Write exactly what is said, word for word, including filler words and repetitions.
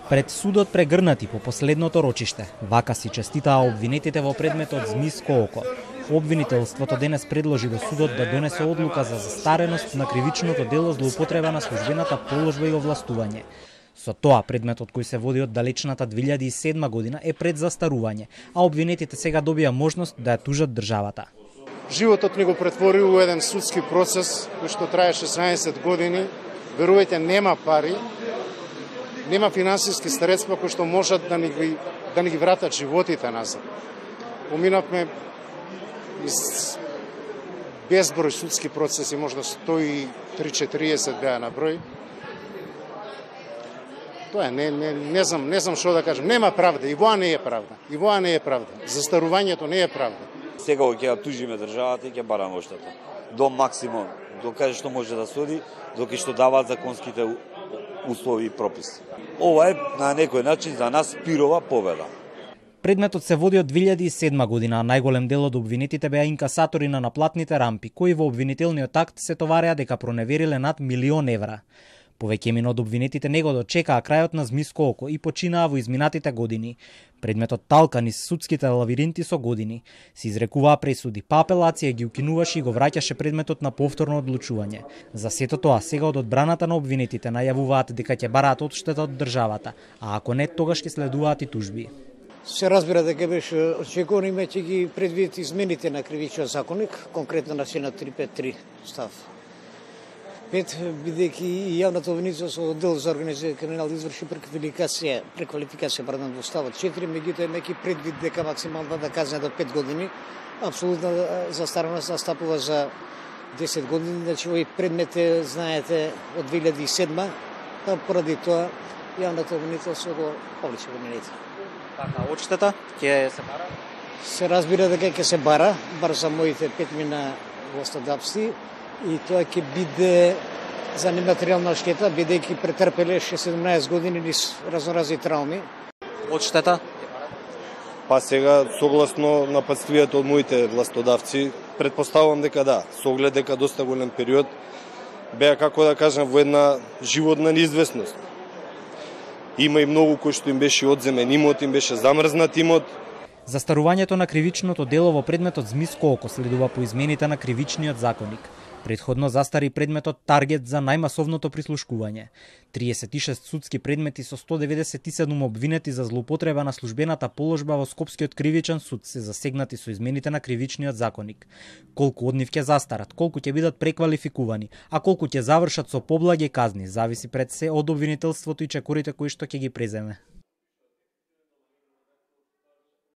Пред судот прегрнати по последното рочиште, вака си честитаа обвинетите во предметот Змиско око. Обвинителството денес предложи до судот да донесе одлука за застареност на кривичното дело злоупотреба на службената положба и овластување. Со тоа, предметот кој се води од далечната две илјади и седма година е пред застарување, а обвинетите сега добија можност да ја тужат државата. Животот ни го претвори у еден судски процес кој што трае шеснаесет години. Верувајте, нема пари, нема финансиски средства кои што можат да ни ги, да ни ги вратат животите назад. Поминавме из безброј судски процеси, можда сто и триесет беа на број. Тоа е, не, не, не знам, не знам што да кажам. Нема правда, и воа не е правда. И воа не е правда. Застарувањето не е правда. Сега ќе ја тужиме државата и ќе бараме оштета. До максимум, до каде што може да суди, доки што даваат законските услови и прописи. Ова е на некој начин за нас пирова победа. Предметот се води од две илјади и седма година, а најголем дел од обвинетите беа инкасатори на наплатните рампи, кои во обвинителниот акт се товареа дека проневериле над милион евра. Повеќемина од обвинетите не го дочекаа крајот на Змиско око и починаа во изминатите години. Предметот талка низ судските лавиринти со години. Се изрекуваа пресуди, па апелација ги укинуваше и го враќаше предметот на повторно одлучување. За сето тоа, сега од одбраната на обвинетите најавуваат дека ќе бараат одштета од државата, а ако не, тогаш ќе следуваат и тужби. Се разбира дека беше очекувано, имајќи ги предвид измените на кривичниот законник, конкретно на член триста петдесет и три став пет, бидејќи и јавната обвинителка со оддел за организиран криминал изврши преквалификација, преквалификација пардон, во ставот четири, меѓутоа имајќи предвид дека максималната казна до пет години, апсолутна застареност настапува за десет години, значи овој предмет е, знаете, од две илјади и седма, па поради тоа јавната обвинителка го повлече обвинетите. Така, одштета ќе се бара? Се разбира дека ќе се бара, бар за моите петмина властодавци, и тоа ќе биде за нематеријална штета, бидејќи претрпеле седумнаесет години низ разноразни трауми. Одштета? Па сега, согласно нападствијата од моите властодавци, предпоставувам дека да, со оглед дека доста голем период, беа, како да кажам, во една животна неизвестност. Има и многу кои што им беше одземен имот, им беше замрзнат имот. Застарувањето на кривичното дело во предметот Змиско око следува по измените на кривичниот законник. Предходно застари предметот Таргет за најмасовното прислушкување. триесет и шест судски предмети со сто деветдесет и седум обвинети за злоупотреба на службената положба во Скопскиот кривичен суд се засегнати со измените на кривичниот законник. Колку од нив ќе застарат, колку ќе бидат преквалификувани, а колку ќе завршат со поблаги казни, зависи пред се од обвинителството и чекорите кои што ќе ги преземе.